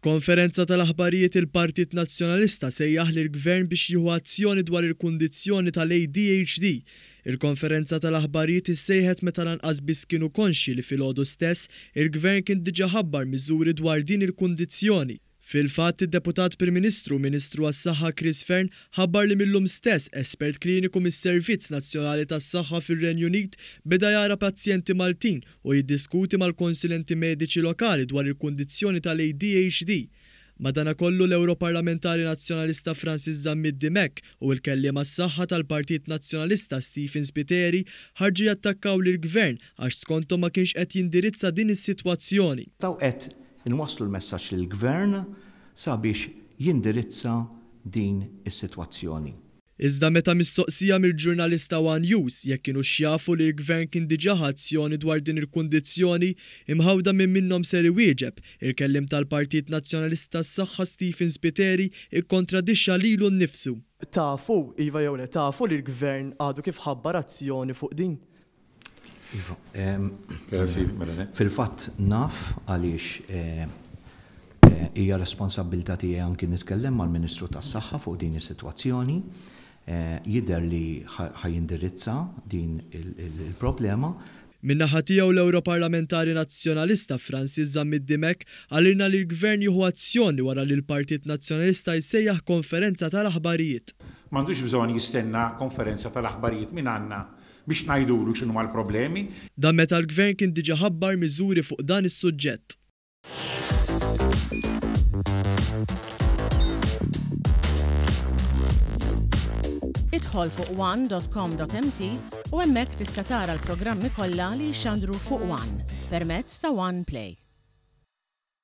F'konferenza tal-aħbarijiet il-Partit Nazzjonalista sejjaħ lill-Gvern biex jieħu azzjoni dwar il-kundizzjoni tal-ADHD. Il-konferenza tal-aħbarijiet issejħet meta lanqas biss kienu konxji li filgħodu stess il-Gvern kien diġà ħabbar miżuri dwar din il-kundizzjoni. Fil-fatt, id-Deputat Prim Ministru u Ministru għas-Saħħa Chris Fearne ħabbar li mil-lum stess espert kliniku mis-Servizz Nazzjonali tas-Saħħa fir-Renju Unit beda jara pazjenti Maltin u jiddiskuti mal-konsulenti mediċi lokali dwar il-kundizzjoni tal-ADHD. Madanakollu, l-Ewroparlamentari Nazzjonalista Francis Zammit Dimech u l-Kelliem għas-Saħħa tal-Partit Nazzjonalista Stephen Spiteri ħarġu jattakkaw lill-Gvern għax skonthom ma kienx qed jindirizza din is-sitwazzjoni. Dawn qed Inwasslu l-messaġġ lill-Gvern sabiex jindirizza din is-sitwazzjoni. Iżda meta mistoqsija mill-ġurnalist ta' one News jekk kinux jafu li l-Gvern kien diġà ħa azzjoni dwar din il-kundizzjoni, imħawda min minnhom ser iwieġeb, il-kelliem tal-Partit Nazzjonalista għas-Saħħa Stephen Spiteri ikkontradixxa lilu nnifsu. Tafu, iva jew le, tafu li l-Gvern għadu kif ħabbar azzjoni fuq din? Iva, fil-fatt naf għaliex hija responsabbiltà tiegħi anki nitkellem mal-Ministru tas-Saħħa fuq din is-sitwazzjoni. Jidher li ħa jindirizza din il-problema. Min-naħa tiegħu l-Ewroparlamentari Nazzjonalista Francis Zammit Dimech qalilna li l-Gvern jieħu azzjoni wara li l-Partit Nazzjonalista jsejjaħ konferenza tal-aħbarijiet. M'għandux bżonn jistenna konferenza tal-aħbarijiet mingħandna biex ngħidulu x'inhuma l-problemi. Dan meta l-Gvern kien diġa ħabbar miżuri fuq dan is-suġġett. Idħol fuq one.com.mt u hemmhekk tista' tara l-programmi kollha li jixxandru fuq One permezz ta' One Play.